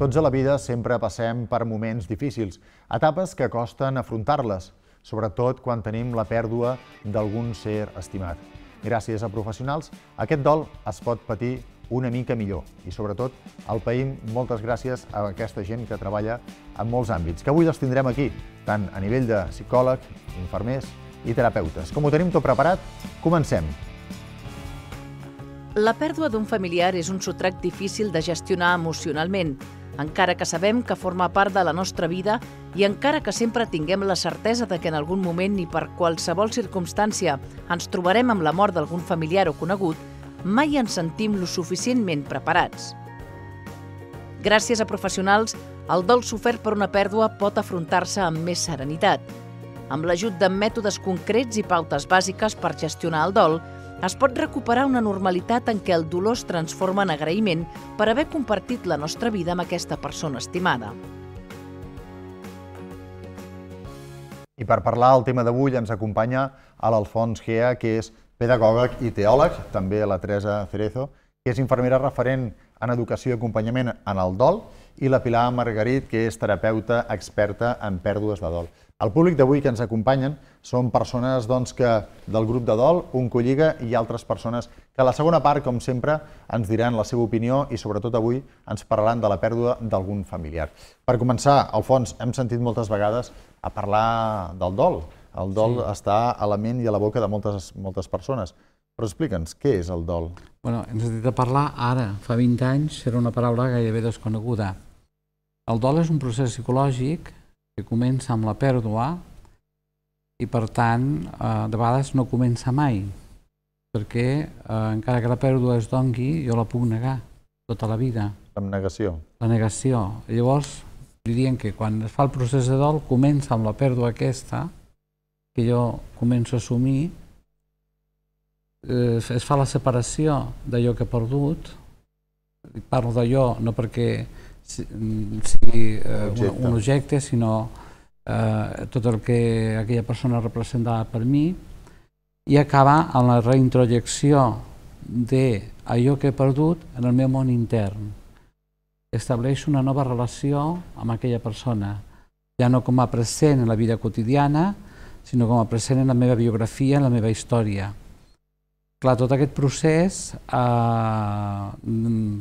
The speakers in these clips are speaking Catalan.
Tots a la vida sempre passem per moments difícils, etapes que costen afrontar-les, sobretot quan tenim la pèrdua d'algun ser estimat. Gràcies a professionals, aquest dol es pot patir una mica millor i, sobretot, el païm moltes gràcies a aquesta gent que treballa en molts àmbits, que avui els tindrem aquí, tant a nivell de psicòleg, infermers i terapeutes. Com ho tenim tot preparat, comencem. La pèrdua d'un familiar és un sotrac difícil de gestionar emocionalment, encara que sabem que forma part de la nostra vida i encara que sempre tinguem la certesa de que en algun moment i per qualsevol circumstància ens trobarem amb la mort d'algun familiar o conegut, mai ens sentim lo suficientment preparats. Gràcies a professionals, el dol sofert per una pèrdua pot afrontar-se amb més serenitat. Amb l'ajut de mètodes concrets i pautes bàsiques per gestionar el dol, es pot recuperar una normalitat en què el dolor es transforma en agraïment per haver compartit la nostra vida amb aquesta persona estimada. I per parlar del tema d'avui ens acompanya l'Alfons Gea, que és pedagòleg i teòleg, també la Teresa Cerezo, que és infermera referent en educació i acompanyament en el dol, i la Pilar Margarit, que és terapeuta experta en pèrdues de dol. El públic d'avui que ens acompanyen són persones del grup de dol, Oncolliga, i altres persones que a la segona part, com sempre, ens diran la seva opinió i sobretot avui ens parlaran de la pèrdua d'algun familiar. Per començar, Alfons, hem sentit moltes vegades a parlar del dol. El dol està a la ment i a la boca de moltes persones. Però explica'ns, què és el dol? Hem sentit a parlar ara, fa 20 anys, era una paraula gairebé desconeguda. El dol és un procés psicològic que comença amb la pèrdua i, per tant, de vegades no comença mai, perquè encara que la pèrdua es dongui, jo la puc negar tota la vida. L'abnegació. La negació. Llavors, diríem que quan es fa el procés de dol, comença amb la pèrdua aquesta, que jo començo a assumir, es fa la separació d'allò que he perdut. Parlo d'allò no perquè sigui un objecte, sinó tot el que aquella persona representava per mi, i acaba amb la reintrojecció d'allò que he perdut en el meu món intern. Estableixo una nova relació amb aquella persona, ja no com a present en la vida quotidiana, sinó com a present en la meva biografia, en la meva història. Clar, tot aquest procés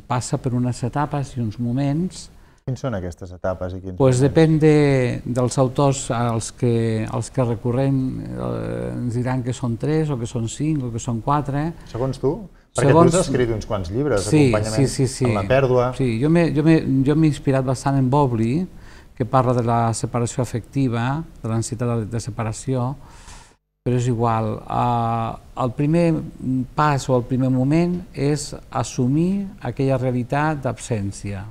passa per unes etapes i uns moments. Quins són aquestes etapes? Depèn dels autors als que recorrem, ens diran que són 3 o que són 5 o que són 4. Segons tu? Perquè tu has escrit uns quants llibres d'acompanyament en la pèrdua. Sí, jo m'he inspirat bastant en Bowlby, que parla de la separació afectiva, de l'ansietat de separació, però és igual. El primer pas o el primer moment és assumir aquella realitat d'absència.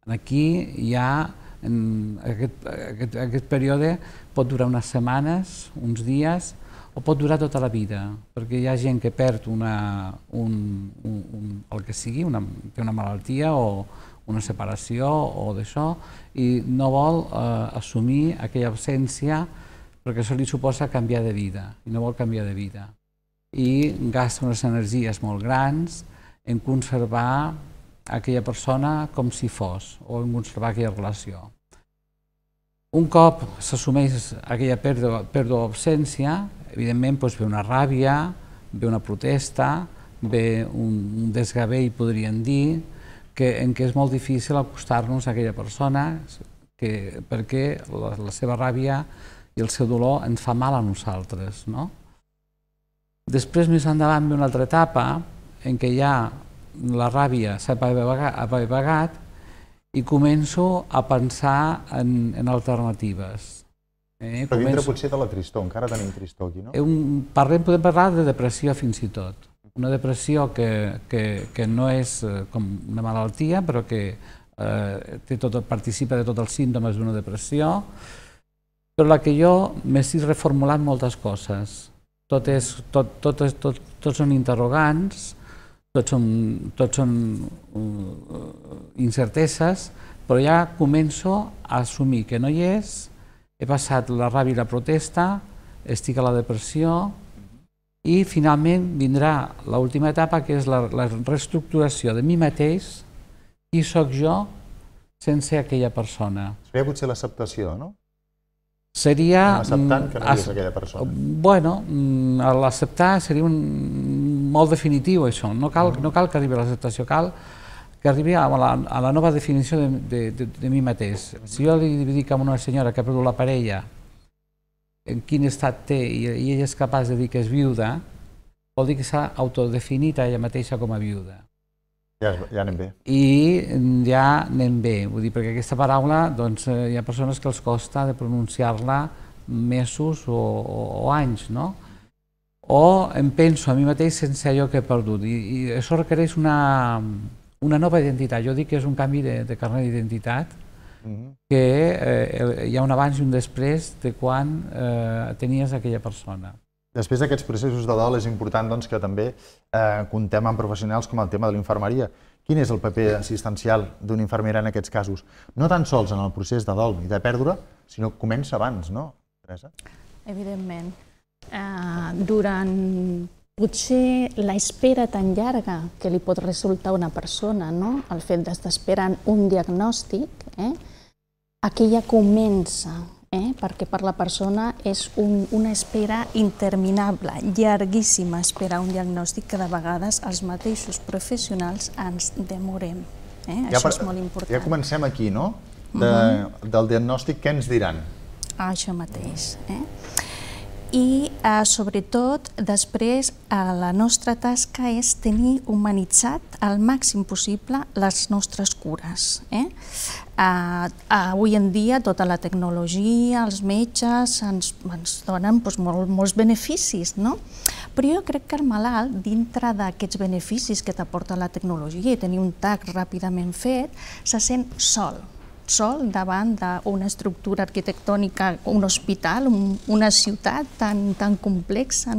Aquí hi ha, aquest període pot durar unes setmanes, uns dies, o pot durar tota la vida, perquè hi ha gent que perd el que sigui, té una malaltia o una separació o d'això, i no vol assumir aquella absència perquè això li suposa canviar de vida, i no vol canviar de vida. I gasta unes energies molt grans en conservar aquella persona com si fos, o en conservar aquella relació. Un cop s'assumeix aquella pèrdua o absència, evidentment ve una ràbia, ve una protesta, ve un desgavell, podríem dir, en què és molt difícil acostar-nos a aquella persona perquè la seva ràbia i el seu dolor ens fa mal a nosaltres. Després, més endavant, ve una altra etapa en què ja la ràbia s'ha apaivagat i començo a pensar en alternatives. Però dintre potser de la tristor, encara tenim tristor aquí, no? Podem parlar de depressió fins i tot. Una depressió que no és com una malaltia, però que participa de tots els símptomes d'una depressió, però la que jo m'estic reformulant moltes coses. Tots són interrogants, tots són incerteses, però ja començo a assumir que no hi és, he passat la ràbia i la protesta, estic a la depressió, i finalment vindrà l'última etapa, que és la reestructuració de mi mateix, qui soc jo sense aquella persona. Seria potser l'acceptació, no? Seria... Acceptant que no hi és aquella persona. Bueno, l'acceptar seria molt definitiu, això. No cal que arribi a l'acceptació, cal que arribi a la nova definició de mi mateix. Si jo li dic a una senyora que ha perdut la parella, en quin estat té, i ella és capaç de dir que és viuda, vol dir que s'ha autodefinit a ella mateixa com a viuda. Ja anem bé. I ja anem bé, vull dir, perquè aquesta paraula, doncs, hi ha persones que els costa de pronunciar-la mesos o anys, no? O em penso a mi mateix sense allò que he perdut, i això requereix una nova identitat. Jo dic que és un canvi de carnet d'identitat, que hi ha un abans i un després de quan tenies aquella persona. Després d'aquests processos de dol és important que també comptem amb professionals com el tema de l'infermeria. Quin és el paper assistencial d'una infermera en aquests casos? No tan sols en el procés de dol i de pèrdua, sinó que comença abans, no, Teresa? Evidentment. Durant potser l'espera tan llarga que li pot resultar a una persona, el fet d'estar esperant un diagnòstic, aquella comença, perquè per la persona és una espera interminable, llarguíssima espera un diagnòstic que de vegades els mateixos professionals ens demorem. Això és molt important. Ja comencem aquí, no? Del diagnòstic, què ens diran? Això mateix. I sobretot després la nostra tasca és tenir humanitzat al màxim possible les nostres cures. Avui en dia tota la tecnologia, els metges ens donen molts beneficis, no? Però jo crec que el malalt, dintre d'aquests beneficis que t'aporta la tecnologia i tenir un TAC ràpidament fet, se sent sol davant d'una estructura arquitectònica, un hospital, una ciutat tan complexa,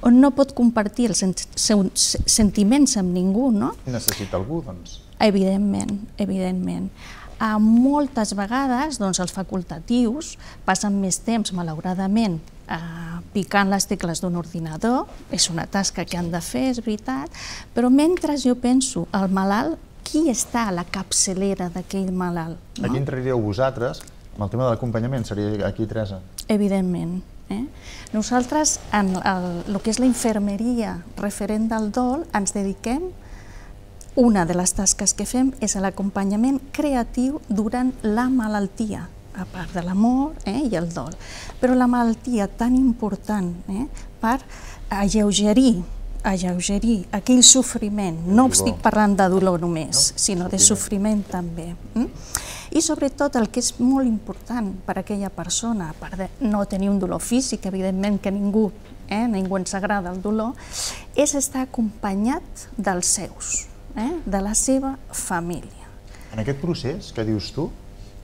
on no pot compartir els seus sentiments amb ningú. Necessita algú, doncs. Evidentment. Moltes vegades els facultatius passen més temps, malauradament, picant les tecles d'un ordinador. És una tasca que han de fer, és veritat, però mentre jo penso al malalt, qui està a la capçalera d'aquell malalt? Aquí entraríeu vosaltres, amb el tema de l'acompanyament, seria aquí, Teresa? Evidentment. Nosaltres, en el que és la infermeria referent del dol, ens dediquem, una de les tasques que fem és l'acompanyament creatiu durant la malaltia, a part de l'amor i el dol. Però la malaltia tan important per alleugerir aquell sofriment. No estic parlant de dolor només, sinó de sofriment també. I sobretot el que és molt important per a aquella persona, a part de no tenir un dolor físic, evidentment que ningú ens agrada el dolor, és estar acompanyat dels seus, de la seva família. En aquest procés que dius tu,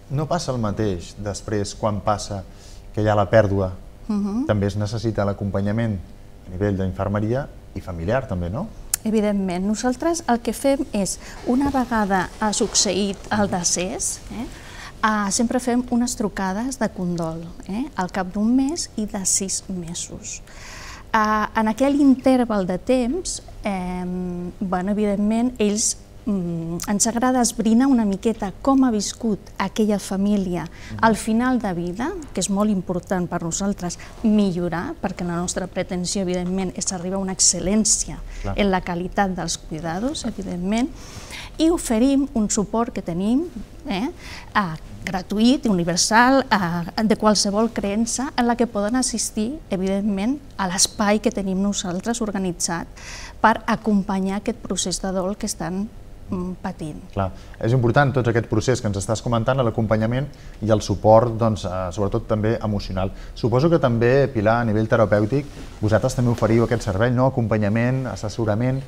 no passa el mateix després quan passa que hi ha la pèrdua. També es necessita l'acompanyament a nivell d'infermeria i familiar també, no? Evidentment. Nosaltres el que fem és, una vegada ha succeït el decés, sempre fem unes trucades de condol, al cap d'un mes i de 6 mesos. En aquell interval de temps, evidentment, ells ens agrada esbrinar una miqueta com ha viscut aquella família al final de vida, que és molt important per nosaltres millorar, perquè la nostra pretensió, evidentment, és arribar a una excel·lència en la qualitat dels cuidados, evidentment, i oferim un suport que tenim gratuït, universal, de qualsevol creença, en la que poden assistir, evidentment, a l'espai que tenim nosaltres organitzat per acompanyar aquest procés de dol que estan patint. Clar, és important tot aquest procés que ens estàs comentant, l'acompanyament i el suport, sobretot també emocional. Suposo que també, Pilar, a nivell terapèutic, vosaltres també oferiu aquest servei, acompanyament, assessorament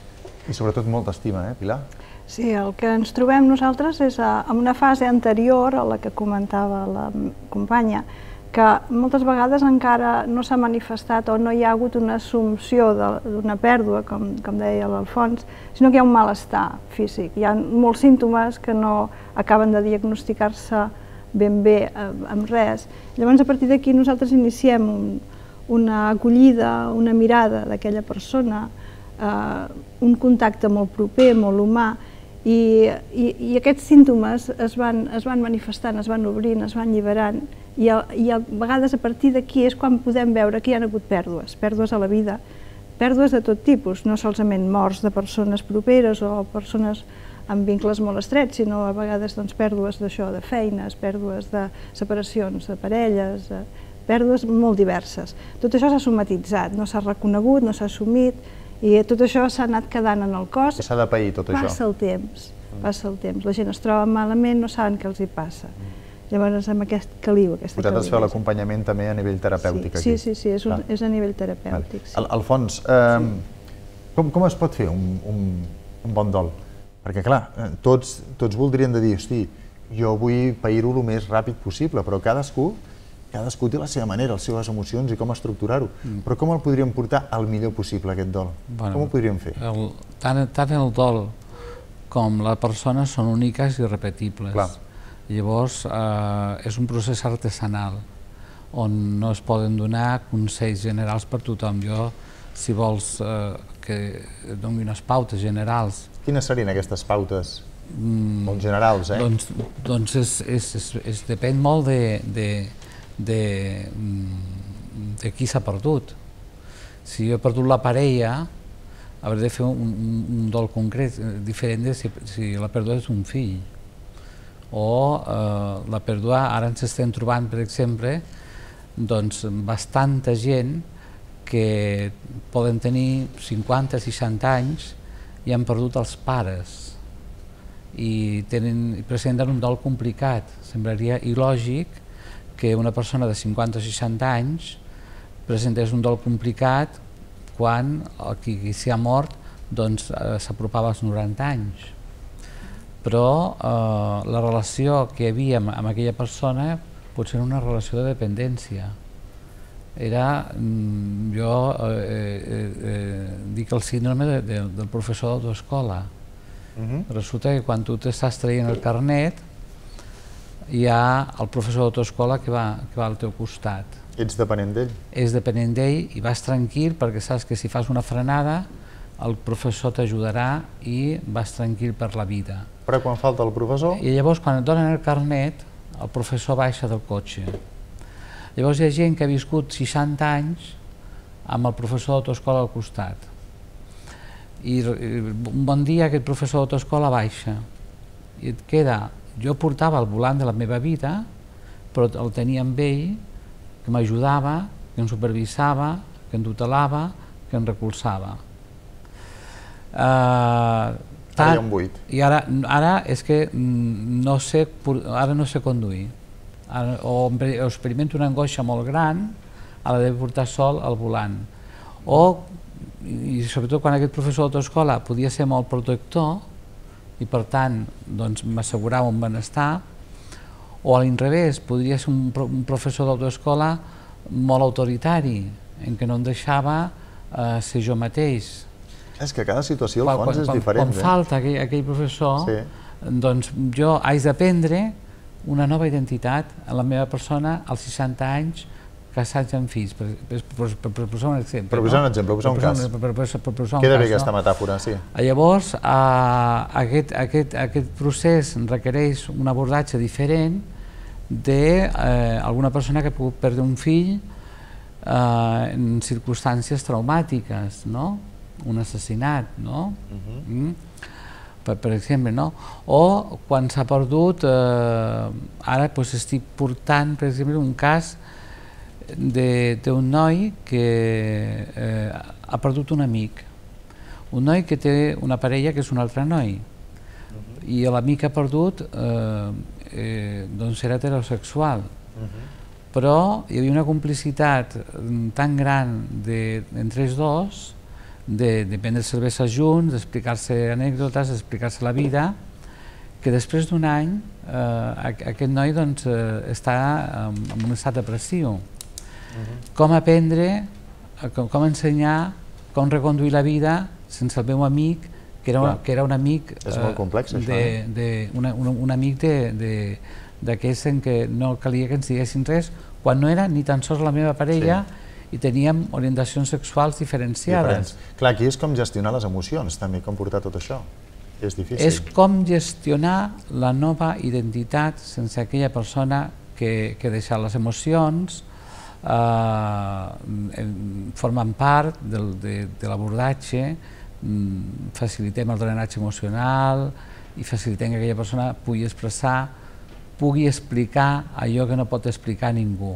i sobretot molta estima, Pilar? Sí, el que ens trobem nosaltres és en una fase anterior a la que comentava la companya, que moltes vegades encara no s'ha manifestat o no hi ha hagut una assumpció d'una pèrdua, com deia l'Alfons, sinó que hi ha un malestar físic. Hi ha molts símptomes que no acaben de diagnosticar-se ben bé amb res. Llavors, a partir d'aquí, nosaltres iniciem una acollida, una mirada d'aquella persona, un contacte molt proper, molt humà, I aquests símptomes es van manifestant, es van obrint, es van alliberant, i a vegades a partir d'aquí és quan podem veure que hi ha hagut pèrdues a la vida, pèrdues de tot tipus, no solament morts de persones properes o persones amb vincles molt estrets, sinó a vegades pèrdues d'això, de feines, pèrdues de separacions de parelles, pèrdues molt diverses. Tot això s'ha somatitzat, no s'ha reconegut, no s'ha assumit, i tot això s'ha anat quedant en el cos. S'ha de pair tot això. Passa el temps, la gent es troba malament, no saben què els hi passa. Llavors, amb aquest caliu, aquesta caliu. Vosaltres feu l'acompanyament també a nivell terapèutic aquí. Sí, és a nivell terapèutic. Alfons, com es pot fer un bon dol? Perquè, clar, tots voldrien dir, hosti, jo vull pair-ho el més ràpid possible, però cadascú té la seva manera, les seves emocions i com estructurar-ho. Però com el podríem portar al millor possible, aquest dol? Com ho podríem fer? Tant el dol com la persona són úniques i irrepetibles. Llavors, és un procés artesanal, on no es poden donar consells generals per tothom. Jo, si vols que et doni unes pautes generals... Quines serien aquestes pautes? Molt generals, eh? Doncs depèn molt de qui s'ha perdut. Si jo he perdut la parella, hauré de fer un dol concret, diferent de si la pèrdua és un fill. O la pèrdua, ara ens estem trobant, per exemple, bastanta gent que poden tenir 50-60 anys i han perdut els pares i presenten un dol complicat. Semblaria il·lògic que una persona de 50 o 60 anys presentés un dol complicat quan qui s'hi ha mort s'apropava als 90 anys. Però la relació que hi havia amb aquella persona potser era una relació de dependència. Jo dic el síndrome del professor d'autoescola. Resulta que quan tu t'estàs traient el carnet hi ha el professor d'autoescola que va al teu costat. Ets dependent d'ell? Ets dependent d'ell i vas tranquil perquè saps que si fas una frenada el professor t'ajudarà i vas tranquil per la vida. Però quan falta el professor? I llavors quan et donen el carnet el professor baixa del cotxe. Llavors hi ha gent que ha viscut 60 anys amb el professor d'autoescola al costat. I un bon dia aquest professor d'autoescola baixa i et queda... Jo portava el volant de la meva vida, però el tenia amb ell, que m'ajudava, que em supervisava, que em tutelava, que em recolzava. Ara hi ha un buit. I ara és que no sé conduir. O experimento una angoixa molt gran a l'haver de portar sol al volant. I sobretot quan aquest professor d'autoescola podia ser molt protector, i per tant m'assegurava un benestar, o a l'inrevés, podria ser un professor d'autoescola molt autoritari, en què no em deixava ser jo mateix. És que cada situació al fons és diferent. Quan falta aquell professor, doncs jo haig d'aprendre una nova identitat en la meva persona als 60 anys, casats amb fills, per posar un exemple. Per posar un exemple, per posar un cas. Queda bé aquesta metàfora, sí. Llavors, aquest procés requereix un abordatge diferent d'alguna persona que ha pogut perdre un fill en circumstàncies traumàtiques, un assassinat, per exemple, o quan s'ha perdut, ara estic portant, per exemple, un cas d'un noi que ha perdut un amic, un noi que té una parella que és un altre noi, i l'amic que ha perdut era heterosexual, però hi havia una complicitat tan gran entre els dos, de prendre cervesa junts, d'explicar-se anècdotes, d'explicar-se la vida, que després d'un any aquest noi està en un estat depressiu. Com aprendre, com ensenyar, com reconduir la vida sense el meu amic, que era un amic... És molt complex, això. Un amic d'aquells en què no calia que ens diguessin res, quan no era ni tan sols la meva parella i teníem orientacions sexuals diferenciades. Clar, aquí és com gestionar les emocions, també, com portar tot això. És difícil. És com gestionar la nova identitat sense aquella persona que ha deixat les emocions, formen part de l'abordatge, facilitem el drenatge emocional i facilitem que aquella persona pugui expressar, pugui explicar allò que no pot explicar ningú.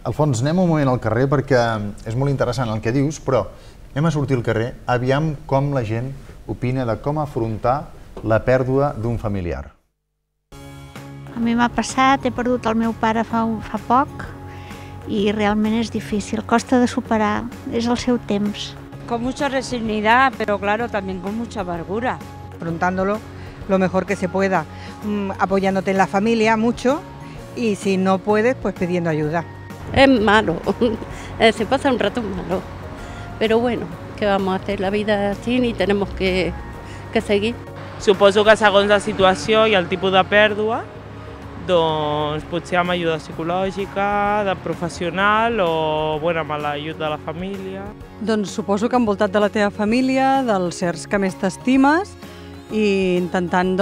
Alfons, anem un moment al carrer perquè és molt interessant el que dius, però anem a sortir al carrer, aviam com la gent opina de com afrontar la pèrdua d'un familiar. A mi m'ha passat, he perdut el meu pare fa poc y realmente es difícil, costa de superar, es el seu temps. Con mucha resignidad, pero claro, también con mucha amargura. Afrontándolo lo mejor que se pueda, apoyándote en la familia mucho y si no puedes, pues pidiendo ayuda. Es malo, se pasa un rato malo, pero bueno, ¿qué vamos a hacer? La vida es así y tenemos que seguir. Suposo que segons la situació i el tipus de pèrdua, doncs potser amb ajuda psicològica, de professional o amb l'ajut de la família. Doncs suposo que envoltat de la teva família, dels sers que més t'estimes i intentant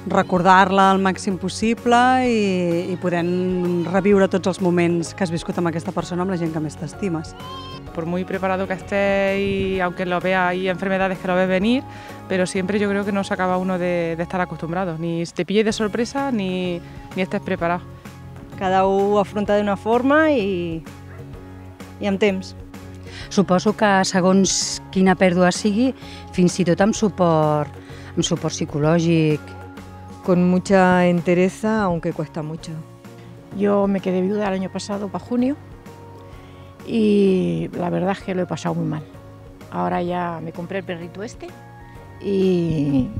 recordar-la al màxim possible i podent reviure tots els moments que has viscut amb aquesta persona, amb la gent que més t'estimes. Por muy preparado que esté y aunque lo vea, hay enfermedades que lo ves venir, pero siempre yo creo que no se acaba uno de estar acostumbrado, ni te pilles de sorpresa ni estés preparado. Cada un ho afronta d'una forma i amb temps. Suposo que segons quina pèrdua sigui, fins i tot amb suport psicològic. Con mucha entereza, aunque cuesta mucho. Yo me quedé viuda el año pasado, para junio, y la verdad es que lo he pasado muy mal. Ahora ya me compré el perrito este y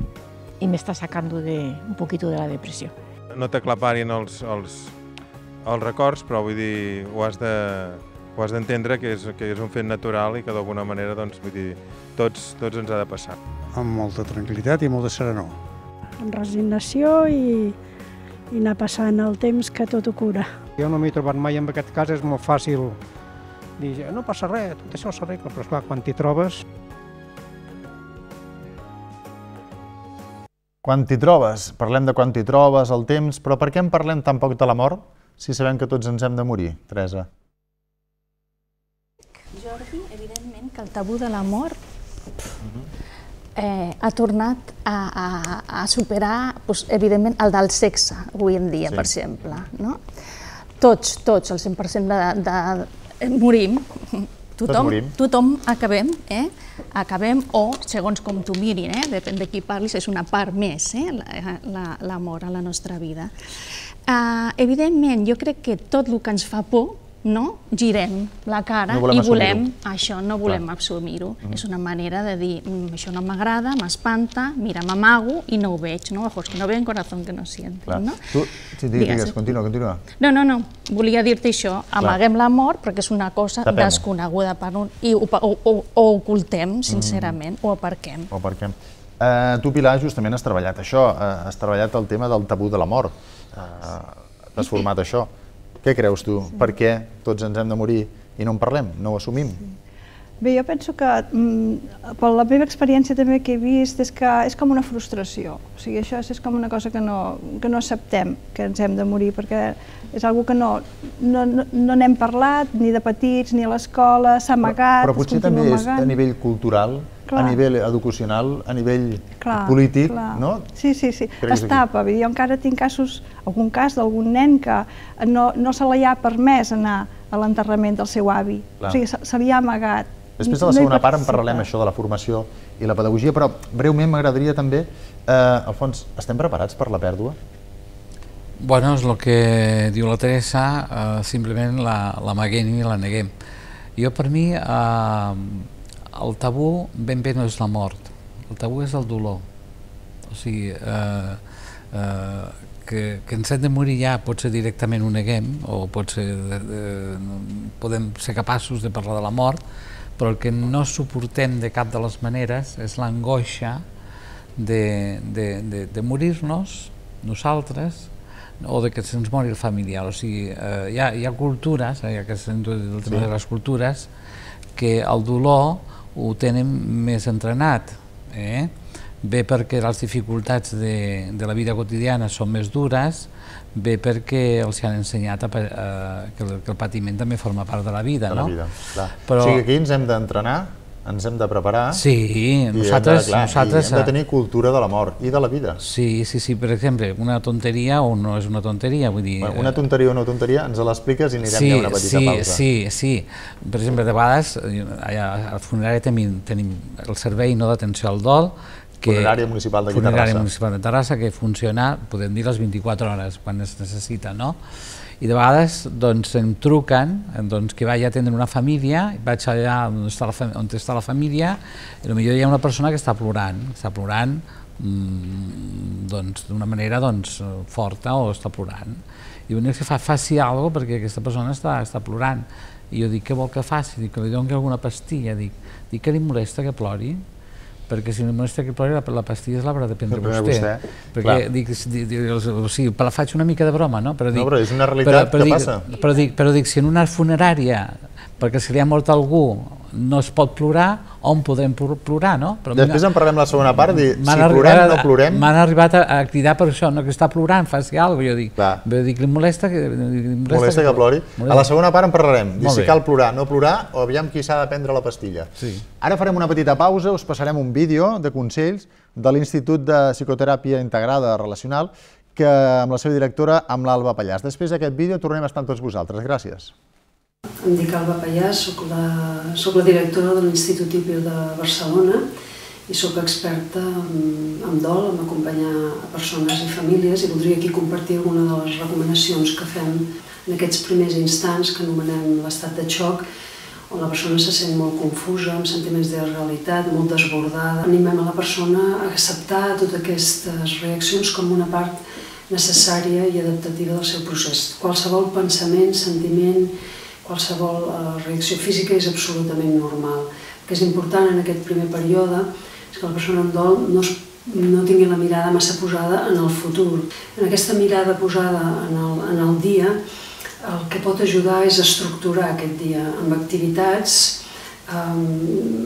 me está sacando un poquito de la depresión. No t'aclaparin els records, però vull dir, ho has d'entendre que és un fet natural i que d'alguna manera, doncs, vull dir, tots ens ha de passar. Amb molta tranquil·litat i molta serenor. Amb resignació i anar passant el temps que tot ho cura. Jo no m'he trobat mai en aquest cas, és molt fàcil dir, no passa res, tot això s'arregla, però esclar, quan t'hi trobes... Quan t'hi trobes, parlem de quan t'hi trobes, el temps, però per què en parlem tan poc de la mort si sabem que tots ens hem de morir, Teresa? Jordi, evidentment que el tabú de la mort ha tornat a superar, evidentment, el del sexe, avui en dia, per exemple. Tots, el 100% morim, tothom acabem, o segons com tu mirin, depèn de qui parlis, és una part més, la mort a la nostra vida. Evidentment, jo crec que tot el que ens fa por, girem la cara i volem això, no volem assumir-ho. És una manera de dir, això no m'agrada, m'espanta, mira, m'amago i no ho veig, ojos que no ven, corazón que no sienten. Digues, continua. No, volia dir-te això, amaguem la mort perquè és una cosa desconeguda i ho ocultem, sincerament, ho aparquem. Tu, Pilar, justament has treballat això, has treballat el tema del tabú de la mort, has format això. Què creus tu? Per què tots ens hem de morir i no en parlem, no ho assumim? Bé, jo penso que, per la meva experiència també que he vist, és que és com una frustració. O sigui, això és com una cosa que no acceptem, que ens hem de morir, perquè és una cosa que no n'hem parlat, ni de petits, ni a l'escola, s'ha amagat, però potser també és a nivell cultural, a nivell educacional, a nivell polític, no? Sí, es tapa. Jo encara tinc algun cas d'algun nen que no se li ha permès anar a l'enterrament del seu avi, o sigui, se li ha amagat. Després de la segona part en parlarem això de la formació i la pedagogia, però breument m'agradaria també, Alfons, estem preparats per la pèrdua? Bueno, és el que diu la Teresa, simplement l'amaguem i la neguem. Jo, per mi, el tabú ben bé no és la mort, el tabú és el dolor. O sigui, que ens hem de morir ja pot ser directament ho neguem, o podem ser capaços de parlar de la mort, però el que no suportem de cap de les maneres és l'angoixa de morir-nos nosaltres o de que se'ns mori el familiar. O sigui, hi ha cultures, ja que s'ha dit el tema de les cultures, que el dolor ho tenen més entrenat. bé perquè les dificultats de la vida quotidiana són més dures, bé perquè els han ensenyat que el patiment també forma part de la vida, no? O sigui, aquí ens hem d'entrenar, ens hem de preparar. Sí, nosaltres hem de tenir cultura de la mort i de la vida. Sí, per exemple, una tonteria o no és una tonteria, vull dir... Una tonteria o no tonteria, ens l'expliques i anirem ja a una petita pausa. Sí. Per exemple, de vegades, al funerari tenim el servei d'atenció al dol, Funerària Municipal d'aquí Terrassa. Funerària Municipal de Terrassa, que funciona, podem dir, les 24 hores, quan es necessita, no? I de vegades em truquen que vaig a atendre una família, vaig allà on està la família, i potser hi ha una persona que està plorant d'una manera forta o està plorant. I l'únic que faci alguna cosa perquè aquesta persona està plorant. I jo dic, què vol que faci? Dic, que li doni alguna pastilla. Dic que li molesta que plori? Perquè si li molesta que plori, la pastilla l'haurà de prendre vostè. Perquè dic, faig una mica de broma, no? No, però és una realitat que passa. Però dic, si en una funerària, perquè si li ha mort algú, no es pot plorar, on podem plorar, no? Després en parlem la segona part, si plorem o no plorem. M'han arribat a cridar per això, que està plorant, faci alguna cosa. Jo dic, li molesta que plori. A la segona part en parlarem, si cal plorar, no plorar, o aviam qui s'ha de prendre la pastilla. Ara farem una petita pausa, us passarem un vídeo de consells de l'Institut de Psicoteràpia Integrada Relacional, que amb la seva directora, amb l'Alba Pallàs. Després d'aquest vídeo tornem a estar amb tots vosaltres. Gràcies. Em dic Alba Pallàs, soc la directora de l'Institut IPIL de Barcelona i soc experta en dol, en acompanyar persones i famílies, i voldria aquí compartir alguna de les recomanacions que fem en aquests primers instants que anomenem l'estat de xoc, on la persona se sent molt confusa, amb sentiments de realitat, molt desbordada. Animem a la persona a acceptar totes aquestes reaccions com una part necessària i adaptativa del seu procés. Qualsevol pensament, sentiment, qualsevol reacció física és absolutament normal. El que és important en aquest primer període és que la persona en dol no tingui la mirada massa posada en el futur. En aquesta mirada posada en el dia, el que pot ajudar és estructurar aquest dia amb activitats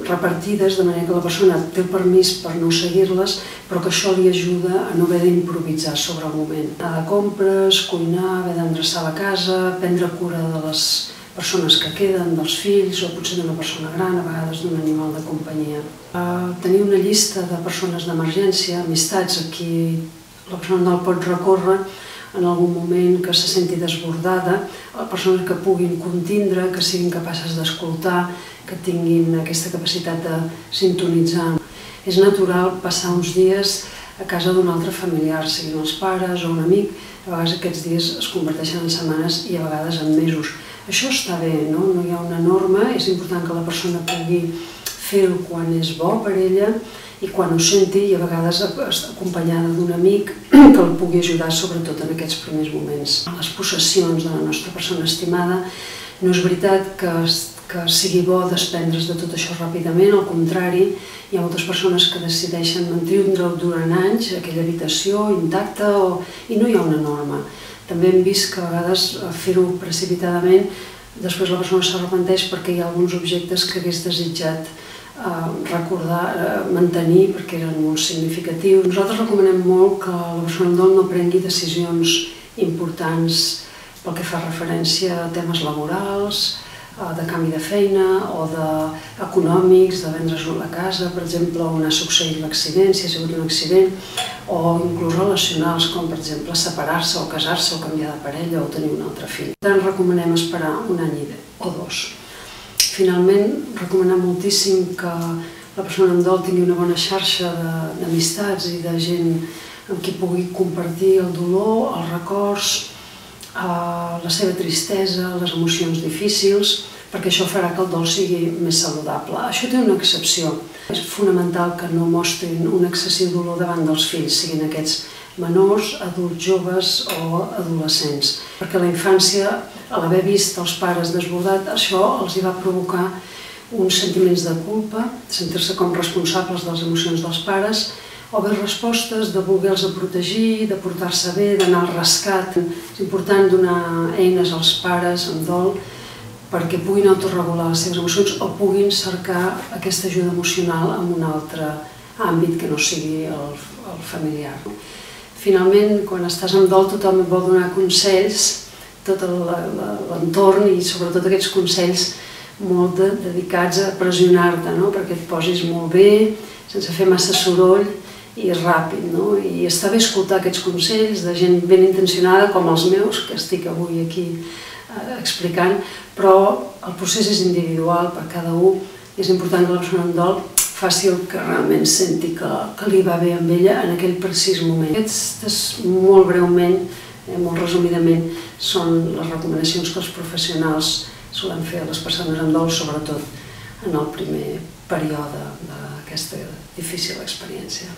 repartides, de manera que la persona té el permís per no seguir-les, però que això li ajuda a no haver d'improvisar sobre el moment. Anar de compres, cuinar, haver d'endreçar la casa, prendre cura de les persones que queden, dels fills, o potser d'una persona gran, a vegades d'un animal de companyia. Tenir una llista de persones d'emergència, amistats a qui la persona no pot recórrer en algun moment que se senti desbordada, persones que puguin contindre, que siguin capaces d'escoltar, que tinguin aquesta capacitat de sintonitzar. És natural passar uns dies a casa d'un altre familiar, siguin els pares o un amic. A vegades aquests dies es converteixen en setmanes i a vegades en mesos. Això està bé, no hi ha una norma, és important que la persona pugui fer-ho quan és bo per ella i quan ho senti, i a vegades acompanyada d'un amic que el pugui ajudar, sobretot en aquests primers moments. Les possessions de la nostra persona estimada, no és veritat que sigui bo desprendre's de tot això ràpidament, al contrari, hi ha moltes persones que decideixen mantindre-ho durant anys, aquella habitació intacta, i no hi ha una norma. També hem vist que a vegades fer-ho precipitadament, després la persona s'arrepenteix perquè hi ha alguns objectes que hagués desitjat recordar, mantenir, perquè eren molt significatius. Nosaltres recomanem molt que la persona en dol no prengui decisions importants pel que fa referència a temes laborals, de canvi de feina o econòmics, de vendre's la casa, per exemple, on ha succeït l'accident, si ha sigut un accident, o inclús relacionals, com per exemple separar-se o casar-se o canviar de parella o tenir un altre fill. Per tant, recomanem esperar un any o dos. Finalment, recomanem moltíssim que la persona en dol tingui una bona xarxa d'amistats i de gent amb qui pugui compartir el dolor, els records, la seva tristesa, les emocions difícils, perquè això farà que el dol sigui més saludable. Això té una excepció. És fonamental que no mostrin un excessiu dolor davant dels fills, siguin aquests menors, adults joves o adolescents. Perquè la infància, a l'haver vist els pares desbordats, això els hi va provocar uns sentiments de culpa, sentir-se com responsables de les emocions dels pares, o bé respostes de voler-los protegir, de portar-se bé, d'anar al rescat. És important donar eines als pares amb dol perquè puguin autorregular les seves emocions o puguin cercar aquesta ajuda emocional en àmbit que no sigui el familiar. Finalment, quan estàs en dol, tothom et vol donar consells, tot l'entorn i sobretot aquests consells molt dedicats a pressionar-te, perquè et posis molt bé, sense fer massa soroll i ràpid. I està bé escoltar aquests consells de gent ben intencionada, com els meus, que estic avui aquí explicant, però el procés és individual per cada un i és important que la persona en dol faci el que realment senti que li va bé amb ella en aquell precís moment. Aquestes, molt breument, molt resumidament, són les recomanacions que els professionals solen fer a les persones amb dol, sobretot en el primer període d'aquesta difícil experiència.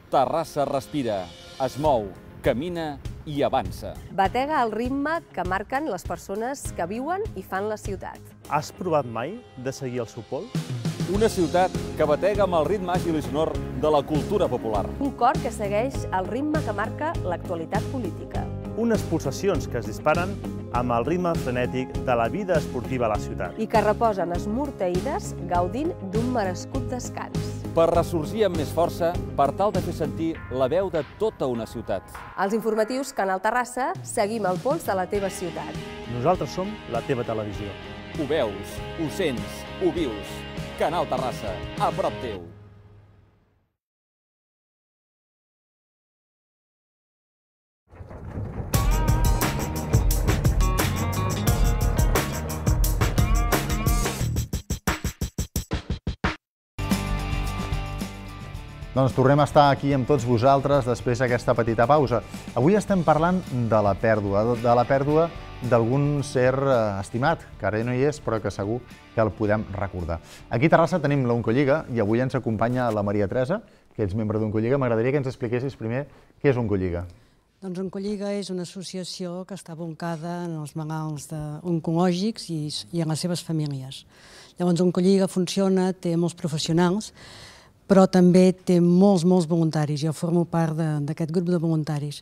Terrassa respira, es mou, camina i avança. Batega el ritme que marquen les persones que viuen i fan la ciutat. Has provat mai de seguir el seu pols? Una ciutat que batega amb el ritme àgil i sonor de la cultura popular. Un cor que segueix el ritme que marca l'actualitat política. Unes pulsacions que es disparen amb el ritme frenètic de la vida esportiva a la ciutat. I que reposen esmorteïdes gaudint d'un merescut descans. Per ressorgir amb més força, per tal de fer sentir la veu de tota una ciutat. Als informatius Canal Terrassa seguim el pols de la teva ciutat. Nosaltres som la teva televisió. Ho veus, ho sents, ho vius. Canal Terrassa, a prop teu. Doncs tornem a estar aquí amb tots vosaltres després d'aquesta petita pausa. Avui estem parlant de la pèrdua d'algun ser estimat, que ara no hi és, però que segur que el podem recordar. Aquí a Terrassa tenim l'Oncolliga i avui ens acompanya la Maria Teresa, que ets membre d'Oncolliga. M'agradaria que ens expliquessis primer què és Oncolliga. Doncs Oncolliga és una associació que està aboncada en els malalts oncològics i en les seves famílies. Llavors Oncolliga funciona, té molts professionals, però també té molts voluntaris. Jo formo part d'aquest grup de voluntaris.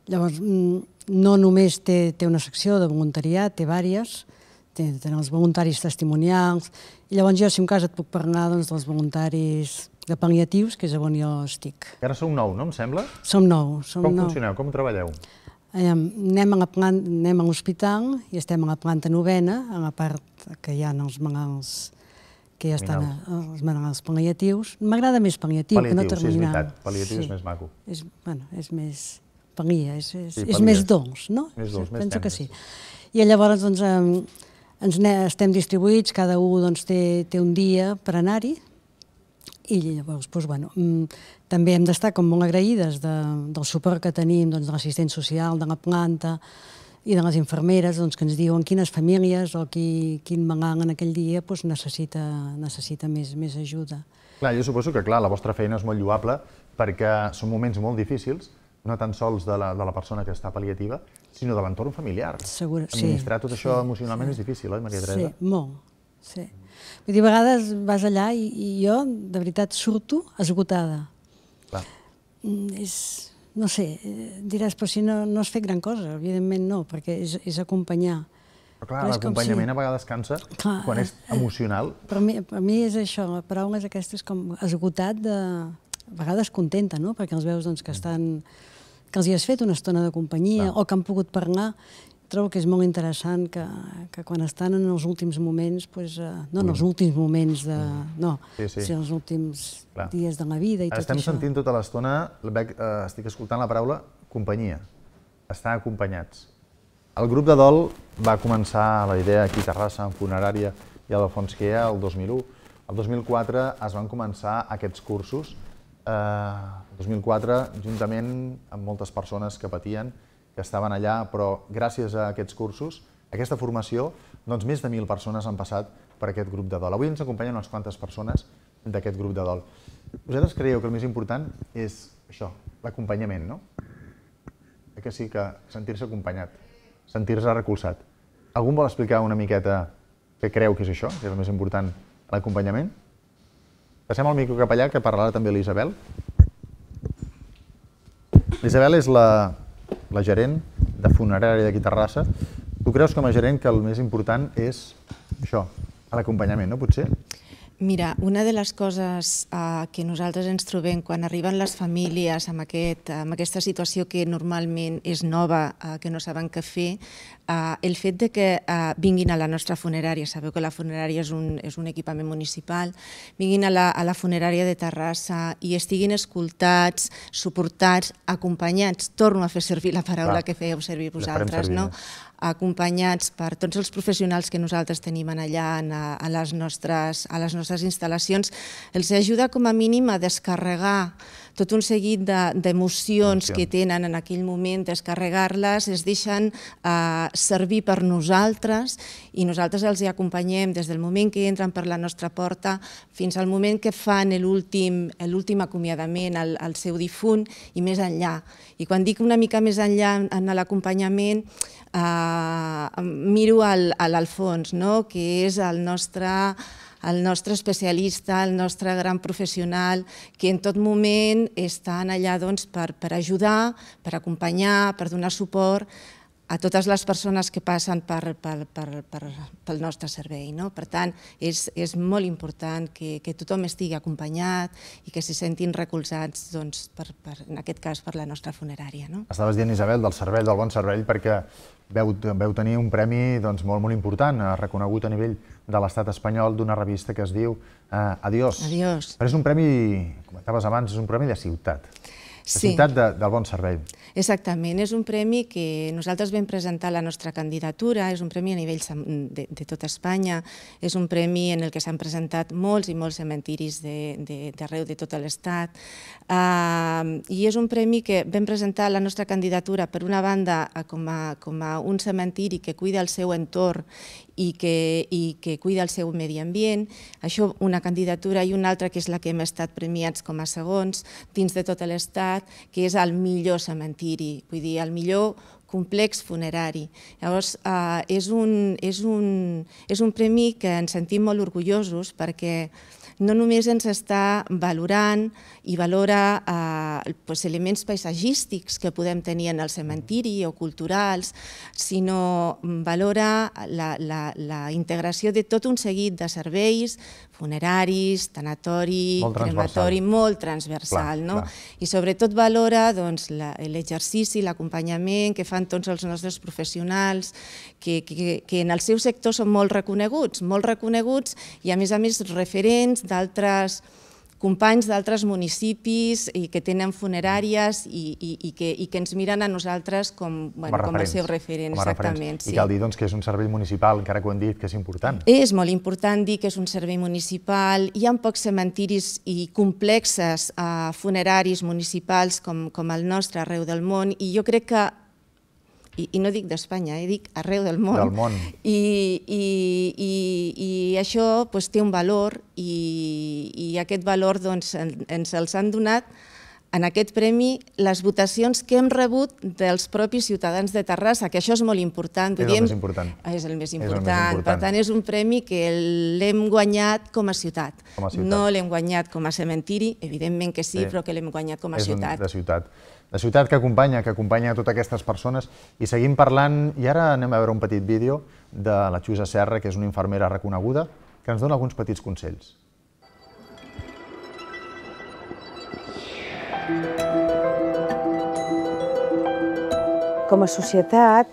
Llavors, no només té una secció de voluntariat, té diverses, tenen els voluntaris testimonials, i llavors jo, si en cas, et puc parlar dels voluntaris de pal·liatius, que és on jo estic. Ara sou 9, no em sembla? Som 9. Com funcioneu? Com treballeu? Anem a l'hospital i estem a la planta 9, a la part que hi ha els malalts que ja estan els malalts pal·liatius. M'agrada més pal·liatiu que no terminal. Pal·liatiu, sí, és veritat. Pal·liatiu és més maco. És més pal·lia, és més dolç, no? Més dolç, més tendre. Penso que sí. I llavors estem distribuïts, cada un té un dia per anar-hi, i llavors, també hem d'estar com molt agraïdes del suport que tenim de l'assistent social, de la planta, i de les infermeres que ens diuen quines famílies o quin malalt en aquell dia necessita més ajuda. Clar, jo suposo que la vostra feina és molt lloable perquè són moments molt difícils, no tan sols de la persona que està pal·liativa, sinó de l'entorn familiar. Segur, sí. Administrar tot això emocionalment és difícil, oi, Maria Teresa? Sí, molt. Sí. Vull dir, a vegades vas allà i jo, de veritat, surto esgotada. Clar. No sé, diràs, però si no has fet gran cosa, evidentment no, perquè és acompanyar. Però clar, l'acompanyament a vegades cansa quan és emocional. Per mi és això, la paraula és aquesta, és com esgotat, a vegades contenta, no? Perquè els veus que els hi has fet una estona de companyia o que han pogut parlar. Trobo que és molt interessant que quan estan en els últims moments, no en els últims moments, sinó en els últims dies de la vida i tot això. Estem sentint tota l'estona, estic escoltant la paraula companyia, estar acompanyats. El grup de dol va començar la idea aquí a Terrassa, en Funerària i a l'Alfons Quea el 2001. El 2004 es van començar aquests cursos, el 2004 juntament amb moltes persones que patien, que estaven allà, però gràcies a aquests cursos, a aquesta formació, doncs més de 1.000 persones han passat per aquest grup de dol. Avui ens acompanyen unes quantes persones d'aquest grup de dol. Vosaltres creieu que el més important és això, l'acompanyament, no? Que sí, que sentir-se acompanyat, sentir-se recolzat. Algú vol explicar una miqueta què creu que és això, que és el més important, l'acompanyament? Passem el micro cap allà, que parlarà també l'Isabel. L'Isabel és la gerent de funerària d'aquí a Terrassa. Tu creus com a gerent que el més important és això, l'acompanyament, no? Potser? Mira, una de les coses que nosaltres ens trobem quan arriben les famílies amb aquesta situació que normalment és nova, que no saben què fer, el fet de que vinguin a la nostra funerària, sabeu que la funerària és un equipament municipal, vinguin a la funerària de Terrassa i estiguin escoltats, suportats, acompanyats, torno a fer servir la paraula que fèieu servir vosaltres, no? Acompanyats per tots els professionals que nosaltres tenim allà a les nostres instal·lacions, els ajuda com a mínim a descarregar tot un seguit d'emocions que tenen en aquell moment, descarregar-les, es deixen servir per nosaltres i nosaltres els acompanyem des del moment que entren per la nostra porta fins al moment que fan l'últim acomiadament al seu difunt i més enllà. I quan dic una mica més enllà en l'acompanyament, miro a l'Alfons, que és el nostre especialista, el nostre gran professional, que en tot moment estan allà per ajudar, per acompanyar, per donar suport a totes les persones que passen pel nostre servei. Per tant, és molt important que tothom estigui acompanyat i que se sentin recolzats, en aquest cas, per la nostra funerària. Estaves dient, Isabel, del servei, del bon servei, perquè veu tenir un premi molt important, reconegut a nivell de l'estat espanyol, d'una revista que es diu Adiós. Però és un premi, comentaves abans, és un premi de ciutat. De ciutat del bon servei. Exactament, és un premi que nosaltres vam presentar la nostra candidatura, és un premi a nivell de tota Espanya, és un premi en el que s'han presentat molts i molts cementiris d'arreu de tot l'Estat, i és un premi que vam presentar la nostra candidatura, per una banda, com a un cementiri que cuida el seu entorn i que cuida el seu medi ambient, això una candidatura, i una altra que és la que hem estat premiats com a segons dins de tot l'Estat, que és el millor cementiri, vull dir, el millor complex funerari. Llavors, és un premi que ens sentim molt orgullosos perquè no només ens està valorant i valora elements paisatgístics que podem tenir en el cementiri o culturals, sinó valora la integració de tot un seguit de serveis funeraris, tanatori, crematori, molt transversal. I sobretot valora l'exercici, l'acompanyament que fan tots els nostres professionals, que en el seu sector són molt reconeguts i a més referents d'altres companys d'altres municipis i que tenen funeràries i que ens miren a nosaltres com a seu referent. I cal dir que és un servei municipal, encara que ho hem dit, que és important. És molt important dir que és un servei municipal. Hi ha pocs cementiris i complexes funeraris municipals com el nostre arreu del món, i jo crec que, i no dic d'Espanya, dic arreu del món, i això té un valor, i aquest valor ens els han donat en aquest premi les votacions que hem rebut dels propis ciutadans de Terrassa, que això és molt important. És el més important. És el més important. Per tant, és un premi que l'hem guanyat com a ciutat. No l'hem guanyat com a cementiri, evidentment que sí, però que l'hem guanyat com a ciutat. És de ciutat. La ciutat que acompanya totes aquestes persones. I seguim parlant, i ara anem a veure un petit vídeo de la Xusa Serra, que és una infermera reconeguda, que ens dona alguns petits consells. Com a societat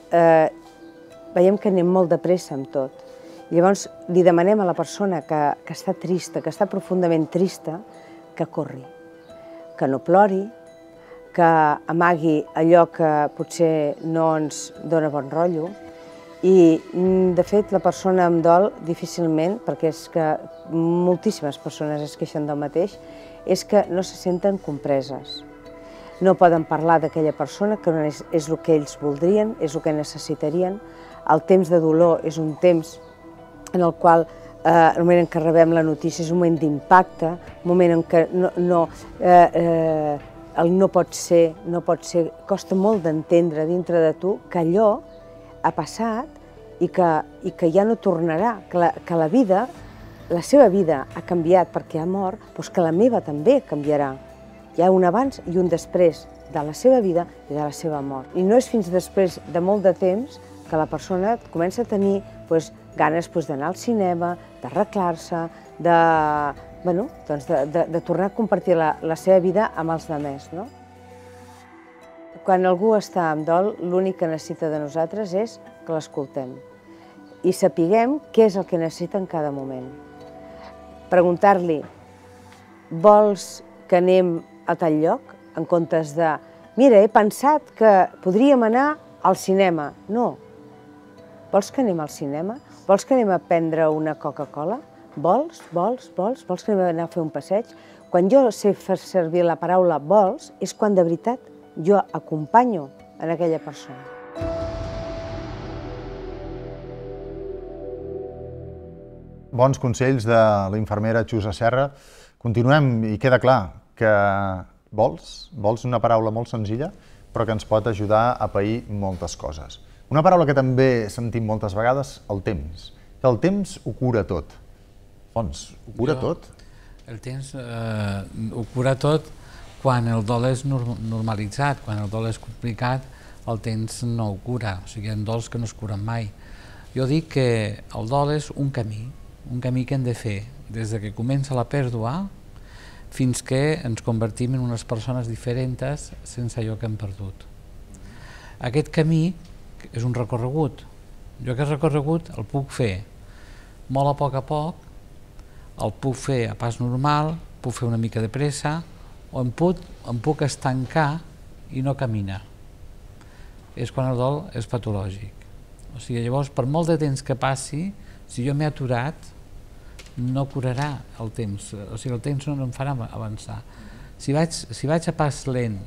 veiem que anem molt de pressa amb tot. Llavors li demanem a la persona que està trista, que està profundament trista, que corri, que no plori, que amagui allò que potser no ens dona bon rotllo. I, de fet, la persona amb dol difícilment, perquè és que moltíssimes persones es queixen del mateix, és que no se senten compreses. No poden parlar d'aquella persona, que no és el que ells voldrien, és el que necessitarien. El temps de dolor és un temps en el qual el moment en què rebem la notícia és un moment d'impacte, un moment en què el no pot ser, costa molt d'entendre dintre de tu que allò ha passat i que ja no tornarà, que la vida, la seva vida ha canviat perquè ha mort, però que la meva també canviarà. Hi ha un abans i un després de la seva vida i de la seva mort. I no és fins després de molt de temps que la persona comença a tenir ganes d'anar al cinema, d'arreglar-se, de tornar a compartir la seva vida amb els altres. Quan algú està en dol, l'únic que necessita de nosaltres és que l'escoltem i sapiguem què és el que necessita en cada moment. Preguntar-li, vols que anem a tal lloc? En comptes de, mira, he pensat que podríem anar al cinema. No. Vols que anem al cinema? Vols que anem a prendre una Coca-Cola? Vols que anem a fer un passeig? Quan jo sé fer servir la paraula vols, és quan de veritat jo acompanyo en aquella persona. Bons consells de la infermera Xusa Serra. Continuem i queda clar que vols una paraula molt senzilla, però que ens pot ajudar a pair moltes coses. Una paraula que també sentim moltes vegades, el temps. El temps ho cura tot. Fons, ho cura tot? El temps ho cura tot quan el dol és normalitzat, quan el dol és complicat, el temps no ho cura, o sigui, hi ha dols que no es curen mai. Jo dic que el dol és un camí que hem de fer des que comença la pèrdua fins que ens convertim en unes persones diferents sense allò que hem perdut. Aquest camí és un recorregut. Jo aquest recorregut el puc fer molt a poc, el puc fer a pas normal, puc fer una mica de pressa, o em puc estancar i no caminar. És quan el dol és patològic. O sigui, llavors, per molt de temps que passi, si jo m'he aturat, no curarà el temps, o sigui, el temps no em farà avançar. Si vaig a pas lent,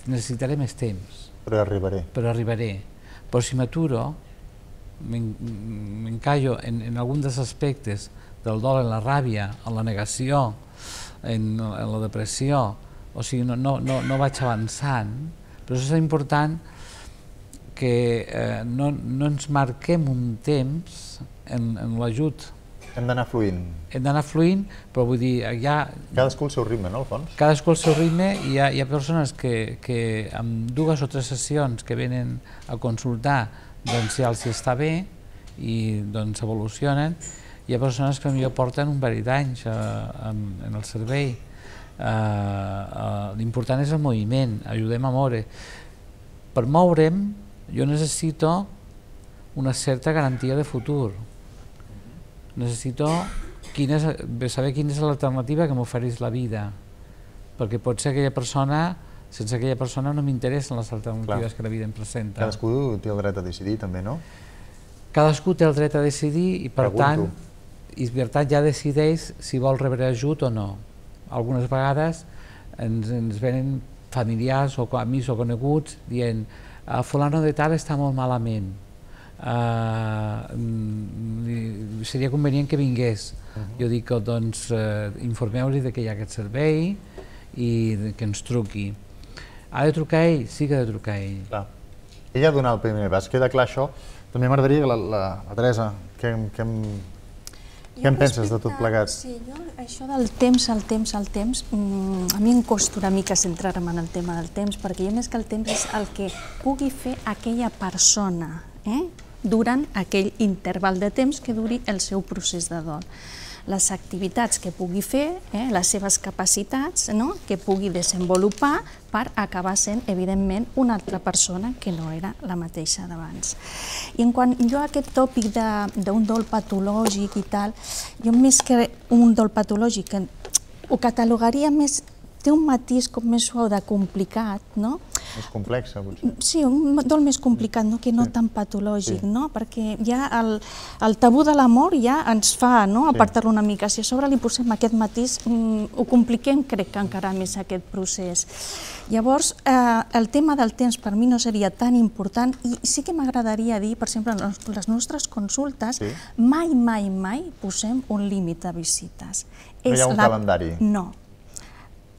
necessitaré més temps. Però arribaré. Però si m'aturo, m'encallo en algun dels aspectes del dol, en la ràbia, en la negació, en la depressió, o sigui, no vaig avançant, però és important que no ens marquem un temps en l'ajut. Hem d'anar fluint. Hem d'anar fluint, però vull dir, cadascú el seu ritme, no, al fons? Cadascú el seu ritme, i hi ha persones que amb 2 o 3 sessions que venen a consultar, doncs ja els està bé i doncs evolucionen. Hi ha persones que potser porten un parell d'anys en el servei. L'important és el moviment, ajudem a moure. Per moure'm, jo necessito una certa garantia de futur. Necessito saber quina és l'alternativa que m'ofereix la vida, perquè pot ser sense aquella persona no m'interessen les alternatives que la vida em presenta. Cadascú té el dret a decidir, també, no? Cadascú té el dret a decidir i, per tant, ja decideix si vol rebre ajut o no. Algunes vegades ens venen familiars o amics o coneguts dient fulano de tal està molt malament, seria convenient que vingués. Jo dic que doncs informeu-li que hi ha aquest servei i que ens truqui. Ha de trucar ell? Sí que ha de trucar ell. Ell ha de donar el primer pas, queda clar això. També m'agradaria que la Teresa, què en penses de tot plegat? Sí, jo això del temps, a mi em costa una mica centrar-me en el tema del temps, perquè jo més que el temps és el que pugui fer aquella persona durant aquell interval de temps que duri el seu procés de dol. Les activitats que pugui fer, les seves capacitats que pugui desenvolupar per acabar sent, evidentment, una altra persona que no era la mateixa d'abans. I en quant jo a aquest tòpic d'un dol patològic i tal, jo més que un dol patològic ho catalogaria més, té un matís com més suau de complicat, no? Més complexa, potser. Sí, un dol més complicat, que no tan patològic, perquè ja el tabú de la mort ja ens fa apartar-lo una mica. Si a sobre li posem aquest matís, ho compliquem, crec que encara més aquest procés. Llavors, el tema del temps per mi no seria tan important i sí que m'agradaria dir, per exemple, en les nostres consultes, mai posem un límit de visites. No hi ha un calendari? No.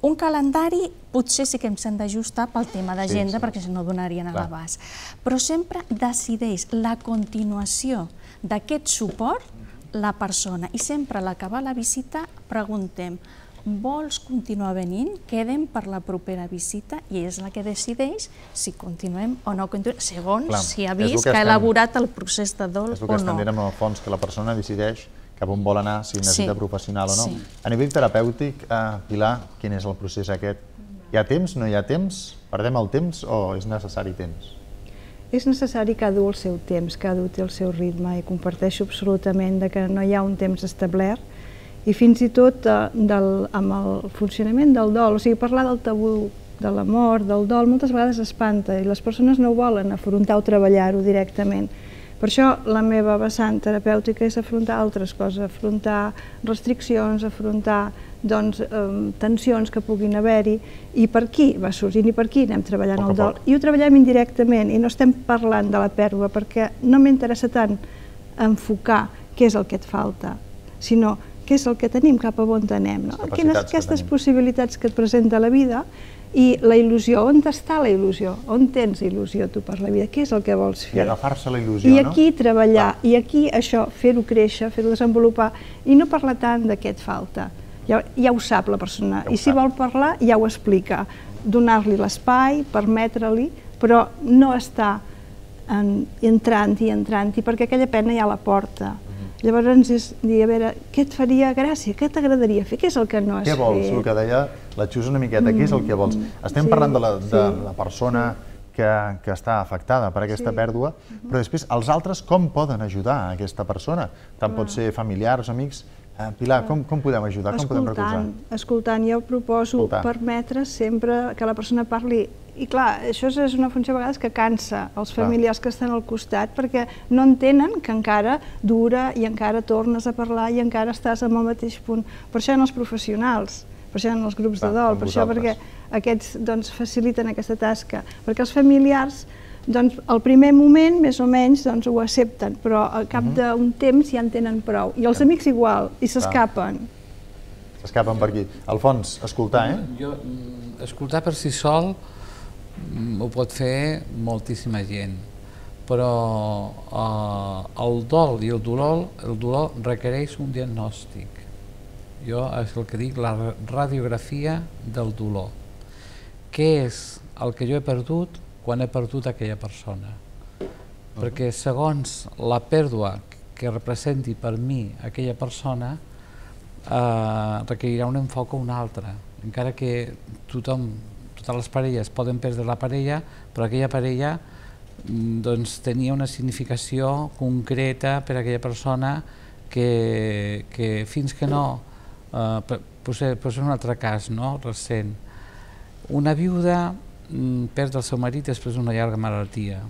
Un calendari potser sí que ens hem d'ajustar pel tema d'agenda, perquè si no donarien a l'abast. Però sempre decideix la continuació d'aquest suport la persona. I sempre a l'acabar la visita preguntem vols continuar venint, quedem per la propera visita i és la que decideix si continuem o no continuem, segons si ha vist que ha elaborat el procés de dol o no. És el que estem dient amb el fons, que la persona decideix cap on vol anar, si necessita professional o no. A nivell terapèutic, Pilar, quin és el procés aquest? Hi ha temps, no hi ha temps? Perdem el temps o és necessari temps? És necessari cada un el seu temps, cada un té el seu ritme, i comparteixo absolutament que no hi ha un temps establert, i fins i tot amb el funcionament del dol, o sigui, parlar del tabú, de la mort, del dol, moltes vegades espanta, i les persones no volen afrontar o treballar-ho directament. Per això la meva vessant terapèutica és afrontar altres coses, afrontar restriccions, afrontar tensions que puguin haver-hi, i per aquí va sorgint i per aquí anem treballant el dol. I ho treballem indirectament i no estem parlant de la pèrdua perquè no m'interessa tant enfocar què és el que et falta, sinó què és el que tenim, cap a on anem. Aquestes possibilitats que et presenta la vida i la il·lusió. On està la il·lusió? On tens il·lusió tu per la vida? Què és el que vols fer? I agafar-se la il·lusió, no? I aquí treballar, i aquí això, fer-ho créixer, fer-ho desenvolupar, i no parlar tant de què et falta. Ja ho sap la persona, i si vol parlar ja ho explica. Donar-li l'espai, permetre-li, però no estar entrant-hi, perquè aquella pena ja la porta. Llavors és dir, a veure, què et faria gràcia, què t'agradaria fer, què és el que no has fet? Què vols? El que deia la Xus una miqueta, què és el que vols? Estem parlant de la persona que està afectada per aquesta pèrdua, però després els altres com poden ajudar a aquesta persona? Tant pot ser familiars, amics. Pilar, com podem ajudar, com podem recolzar? Escoltant, jo proposo permetre sempre que la persona parli. I clar, això és una funció a vegades que cansa els familiars que estan al costat perquè no entenen que encara dura i encara tornes a parlar i encara estàs en el mateix punt. Per això hi ha els professionals, per això hi ha els grups de dol, per això perquè aquests faciliten aquesta tasca. Perquè els familiars, al primer moment, més o menys, ho accepten, però al cap d'un temps ja en tenen prou. I els amics igual, i s'escapen. S'escapen per aquí. Alfons, escoltar, Escoltar per si sol ho pot fer moltíssima gent, però el dol i el dolor requereix un diagnòstic. Jo és el que dic, la radiografia del dolor. Què és el que jo he perdut quan he perdut aquella persona? Perquè segons la pèrdua que representi per mi aquella persona requerirà un enfoc o un altre, encara que totes les parelles poden perdre la parella, però aquella parella tenia una significació concreta per a aquella persona que fins que no, posem un altre cas recent, una viuda perd el seu marit després d'una llarga malaltia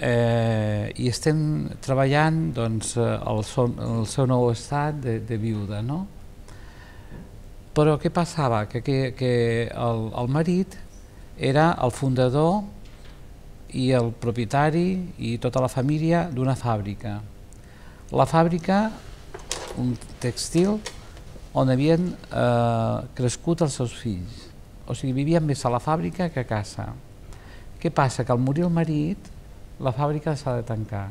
i estem treballant el seu nou estat de viuda, no? Però què passava? Que el marit era el fundador i el propietari i tota la família d'una fàbrica. La fàbrica, un tèxtil, on havien crescut els seus fills. O sigui, vivien més a la fàbrica que a casa. Què passa? Que al morir el marit, la fàbrica s'ha de tancar.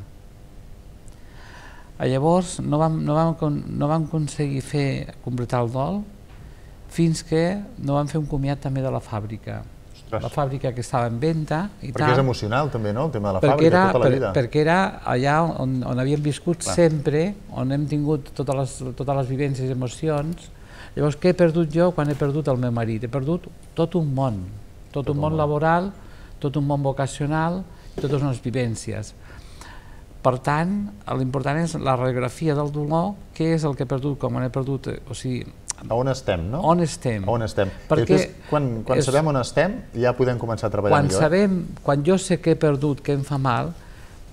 Llavors no vam aconseguir completar el dol fins que no vam fer un comiat també de la fàbrica. La fàbrica que estava en venda i tal. Perquè és emocional també, no?, el tema de la fàbrica, tota la vida. Perquè era allà on havíem viscut sempre, on hem tingut totes les vivències i emocions. Llavors, què he perdut jo quan he perdut el meu marit? He perdut tot un món laboral, tot un món vocacional i totes unes vivències. Per tant, l'important és la radiografia del dolor, què és el que he perdut, com he perdut, o sigui... On estem, no? On estem. On estem. Quan sabem on estem, ja podem començar a treballar millor. Quan jo sé que he perdut, que em fa mal,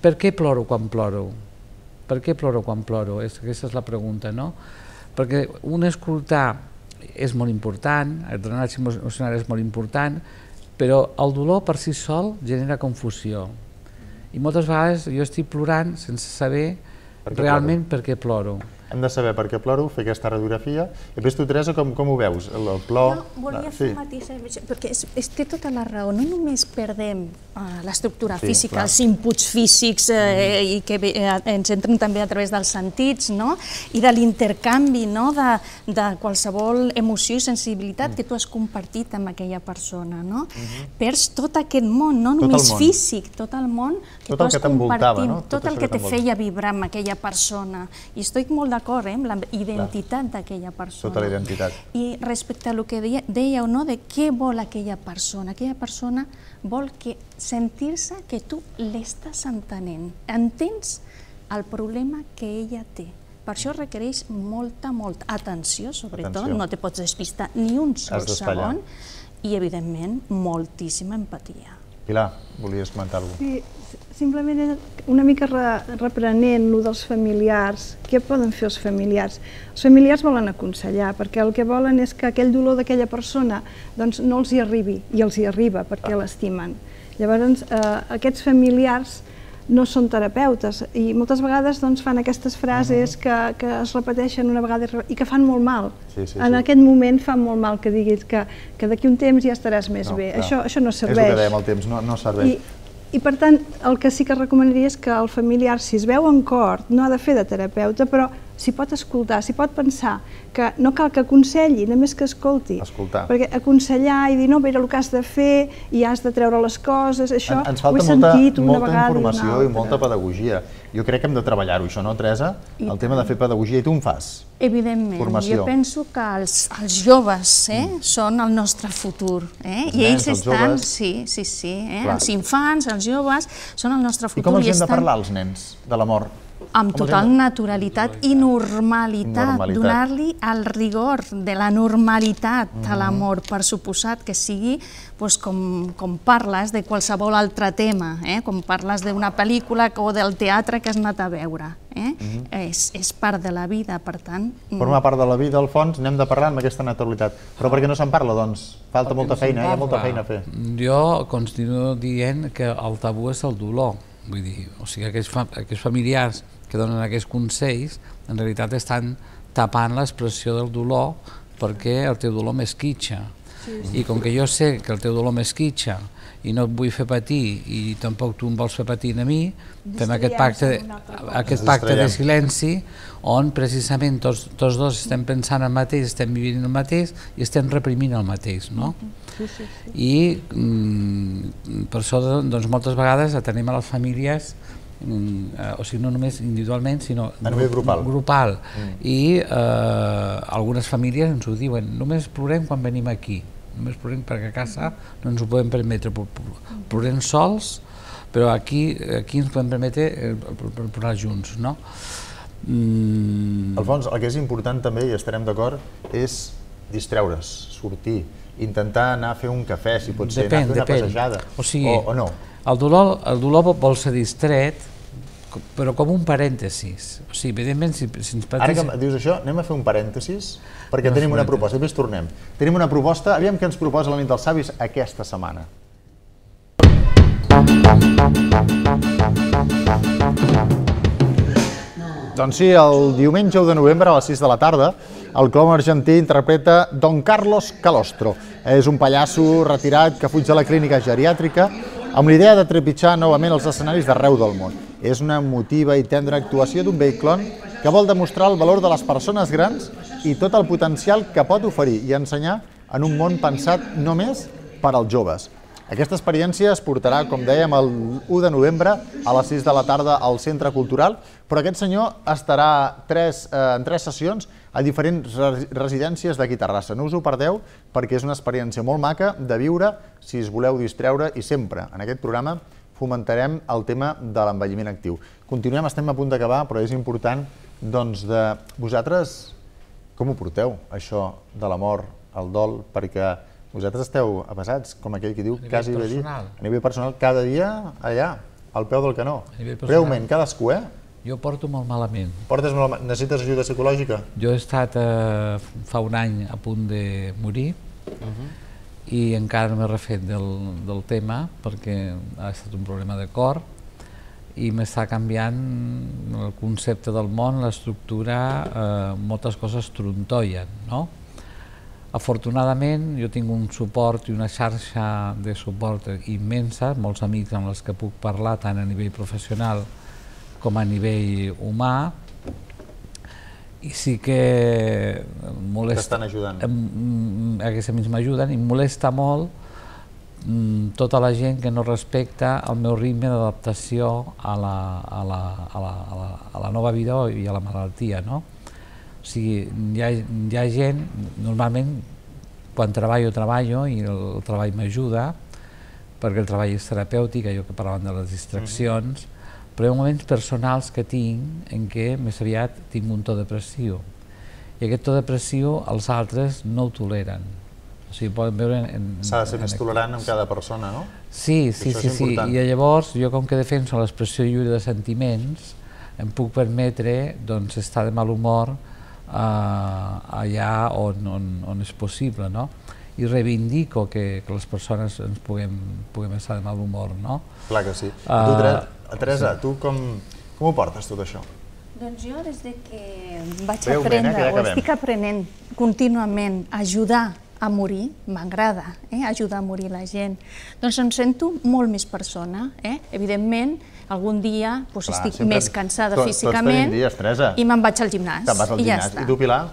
per què ploro quan ploro? Per què ploro quan ploro? Aquesta és la pregunta, no? Perquè un escoltar és molt important, el drenatge emocional és molt important, però el dolor per si sol genera confusió. I moltes vegades jo estic plorant sense saber realment per què ploro. hem de saber per què ploro, fer aquesta radiografia. I després tu, Teresa, com ho veus? El plor... Volia fer matisar, perquè té tota la raó. No només perdem l'estructura física, els inputs físics i que ens entren també a través dels sentits i de l'intercanvi de qualsevol emoció i sensibilitat que tu has compartit amb aquella persona. Perds tot aquest món, no només físic, tot el món que tu has compartit, tot el que te feia vibrar amb aquella persona. I estic molt d'acord amb la identitat d'aquella persona. Tota la identitat. I respecte a el que dèieu, de què vol aquella persona vol sentir-se que tu l'estàs entenent. Entens el problema que ella té. Per això requereix molta atenció, sobretot, no te pots despistar ni un sol segon, i, evidentment, moltíssima empatia. Pilar, volies comentar alguna cosa? Sí, simplement una mica reprenent lo dels familiars. Què poden fer els familiars? Els familiars volen aconsellar, perquè el que volen és que aquell dolor d'aquella persona no els hi arribi, i els hi arriba perquè l'estimen. Llavors, aquests familiars no són terapeutes i moltes vegades fan aquestes frases que es repeteixen una vegada i que fan molt mal. En aquest moment fa molt mal que diguis que d'aquí un temps ja estaràs més bé. Això no serveix. És el que dèiem, el temps no serveix. I per tant, el que sí que recomanaria és que el familiar, si es veu en cor, no ha de fer de terapeuta, però s'hi pot escoltar, s'hi pot pensar, que no cal que aconselli, només que escolti. Perquè aconsellar i dir, no, mira el que has de fer i has de treure les coses, això ho he sentit una vegada i una altra. Ens falta molta informació i molta pedagogia. Jo crec que hem de treballar-ho, això, no, Teresa? El tema de fer pedagogia, i tu en fas? Evidentment. Jo penso que els joves són el nostre futur. I ells estan, sí, els infants, els joves, són el nostre futur. I com els hem de parlar, els nens, de la mort? Amb total naturalitat i normalitat, donar-li el rigor de la normalitat a l'amor, per suposat que sigui com parles de qualsevol altre tema, com parles d'una pel·lícula o del teatre que has anat a veure. És part de la vida, per tant... Forma part de la vida, al fons, n'hem de parlar amb aquesta naturalitat. Però per què no se'n parla, doncs? Falta molta feina, hi ha molta feina a fer. Jo continuo dient que el tabú és el dolor. Vull dir, o sigui, aquells familiars que donen aquests consells, en realitat estan tapant l'expressió del dolor perquè el teu dolor m'esquitxa. I com que jo sé que el teu dolor m'esquitxa i no et vull fer patir i tampoc tu em vols fer patir a mi, fem aquest pacte de silenci on precisament tots dos estem pensant el mateix, estem vivint el mateix i estem reprimint el mateix, no? I per això moltes vegades atenem a les famílies, o sigui, no només individualment, sinó a nivell grupal. I algunes famílies ens ho diuen, només plorem quan venim aquí, només plorem perquè a casa no ens ho podem permetre, plorem sols, però aquí ens podem permetre plorar junts, no? Alfons, el que és important també, i estarem d'acord, és distreure's, sortir, intentar anar a fer un cafè, si pot ser, anar a fer una passejada, o no? El dolor vol ser distret, però com un parèntesis. O sigui, evidentment, si ens patís... Ara que dius això, anem a fer un parèntesis, perquè tenim una proposta, després tornem. Tenim una proposta, aviam què ens proposa la nit dels savis aquesta setmana. Doncs sí, el diumenge 1 de novembre a les 6 de la tarda, el Colom argentí interpreta Don Carlos Calostro. És un pallasso retirat que fuig de la clínica geriàtrica amb l'idea de trepitjar novament els escenaris d'arreu del món. És una emotiva i tendra actuació d'un vell clon que vol demostrar el valor de les persones grans i tot el potencial que pot oferir i ensenyar en un món pensat només per als joves. Aquesta experiència es portarà, com dèiem, el 1 de novembre a les 6 de la tarda al Centre Cultural, però aquest senyor estarà en 3 sessions a diferents residències d'aquí a Terrassa. No us ho perdeu perquè és una experiència molt maca de viure si us voleu distreure i sempre en aquest programa fomentarem el tema de l'envelliment actiu. Continuem, estem a punt d'acabar, però és important doncs de vosaltres com ho porteu, això de la mort, el dol, perquè vosaltres esteu avasats, com aquell que diu, quasi bé dit, a nivell personal, cada dia allà, al peu del canó. Breument, cadascú, Jo porto molt malament. Portes molt malament. Necessites ajuda psicològica? Jo he estat fa un any a punt de morir i encara no m'he refet del tema perquè ha estat un problema de cor i m'està canviant el concepte del món, l'estructura, moltes coses trontollen, no? Afortunadament, jo tinc un suport i una xarxa de suport immensa, molts amics amb els que puc parlar tant a nivell professional com a nivell humà, i sí que molesta... T'estan ajudant. Aquests amics m'ajuden i molesta molt tota la gent que no respecta el meu ritme d'adaptació a la nova vida i a la malaltia, no? O sigui, hi ha gent, normalment, quan treballo i el treball m'ajuda, perquè el treball és terapèutic, allò que parlàvem de les distraccions, però hi ha moments personals que tinc en què més aviat tinc un to depressiu. I aquest to depressiu els altres no ho toleren. O sigui, poden veure... S'ha de ser més tolerant amb cada persona, no? Sí. I llavors, jo com que defenso l'expressió lliure de sentiments, em puc permetre estar de mal humor allà on és possible, no? I reivindico que les persones ens puguem estar de mal humor, no? Clar que sí. Teresa, tu com ho portes tot això? Doncs jo des que vaig aprendre, o estic aprenent contínuament a ajudar a morir, m'agrada ajudar a morir la gent, doncs em sento molt més persona. Evidentment, algun dia estic més cansada físicament i me'n vaig al gimnàs. Te'n vas al gimnàs. I tu, Pilar?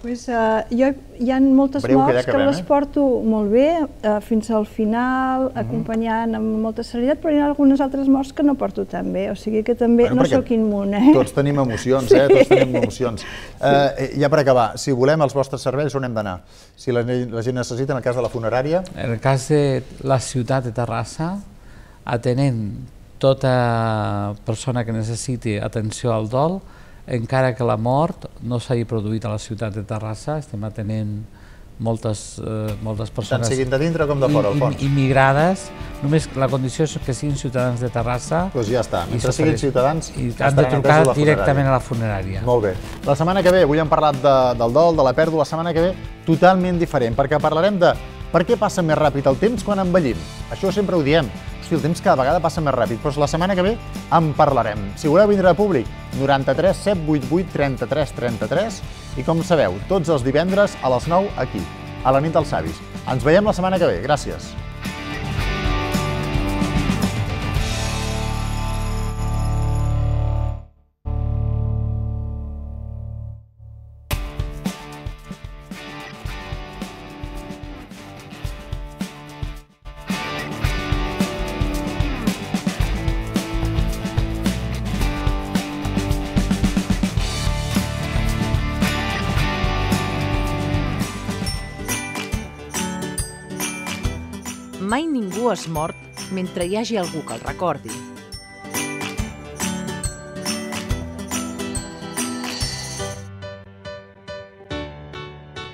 Jo hi ha moltes morts que les porto molt bé, fins al final, acompanyant amb molta serenitat, però hi ha algunes altres morts que no porto tan bé, o sigui que també no sóc immune. Tots tenim emocions, tots tenim emocions. Ja per acabar, si volem els vostres serveis, on hem d'anar? Si la gent necessita, en el cas de la funerària? En el cas de la ciutat de Terrassa, atenent tota persona que necessiti atenció al dol, encara que la mort no s'hagi produït a la ciutat de Terrassa, estem atenent moltes persones... Tant siguin de dintre com de fora, al fons. Immigrades, només la condició és que siguin ciutadans de Terrassa... Doncs ja està, mentre siguin ciutadans... I han de trucar directament a la funerària. Molt bé. La setmana que ve, avui hem parlat del dol, de la pèrdua, la setmana que ve totalment diferent, perquè parlarem de per què passa més ràpid el temps quan envellim. Això sempre ho diem. El temps cada vegada passa més ràpid, però la setmana que ve en parlarem. Si voleu vindre a públic, 93 788 33 33 i com sabeu, tots els divendres a les 9 aquí, a la nit dels savis. Ens veiem la setmana que ve. Gràcies. Mai ningú és mort mentre hi hagi algú que el recordi.